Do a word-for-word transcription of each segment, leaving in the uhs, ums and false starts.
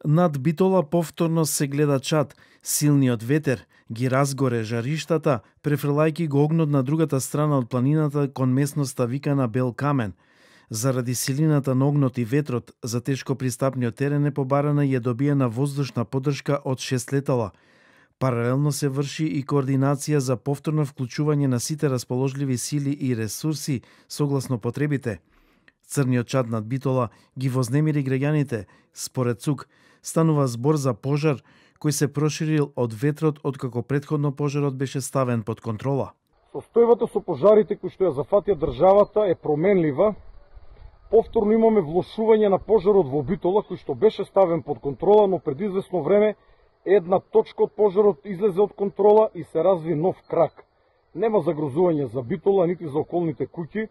Над Битола повторно се гледа чад. Силниот ветер ги разгоре жариштата, префрлајки го огнот на другата страна од планината кон местноста викана Бел Камен. Заради силината на огнот и ветрот, за тешко пристапниот терен е побарана и е добиена воздушна поддршка од шест летала. Паралелно се врши и координација за повторно вклучување на сите расположливи сили и ресурси согласно потребите. Црниот чад над Битола ги вознемири граѓаните. Според ЦУК, станува збор за пожар кој се проширил од ветрот откако претходно пожарот беше ставен под контрола. Состојбата со пожарите кои што ја зафатија државата е променлива. Повторно имаме влошување на пожарот во Битола кој што беше ставен под контрола, но пред известно време една точка од пожарот излезе од контрола и се разви нов крак. Нема загрозување за Битола нити за околните куќи.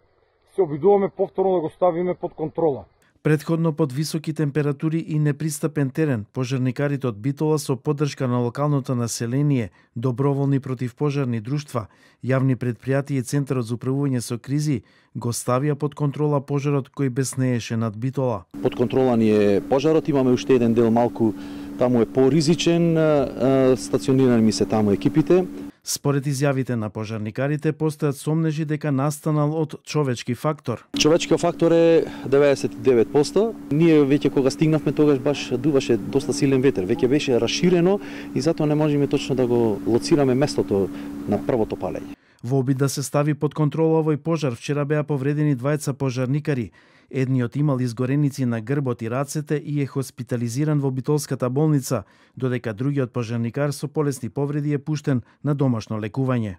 Се обидуваме повторно да го ставиме под контрола. Предходно под високи температури и непристапен терен, пожарникарите од Битола со поддршка на локалното население, доброволни противпожарни друштва, јавни предпријатија и Центарот за управување со кризи го ставија под контрола пожарот кој беснееше над Битола. Под контрола ни е пожарот, имаме уште еден дел малку, таму е поризичен, стационирани ми се таму екипите. Според изјавите на пожарникарите, постојат сомнежи дека настанал од човечки фактор. Човечкиот фактор е деветдесет и девет проценти. Ние веќе кога стигнавме тогаш баш дуваше доста силен ветер, веќе беше расширено и затоа не можеме точно да го лоцираме местото на првото палење. Во обид да се стави под контрола овој пожар, вчера беа повредени двајца пожарникари. Едниот имал изгореници на грбот и рацете и е хоспитализиран во Битолската болница, додека другиот пожарникар со полесни повреди е пуштен на домашно лекување.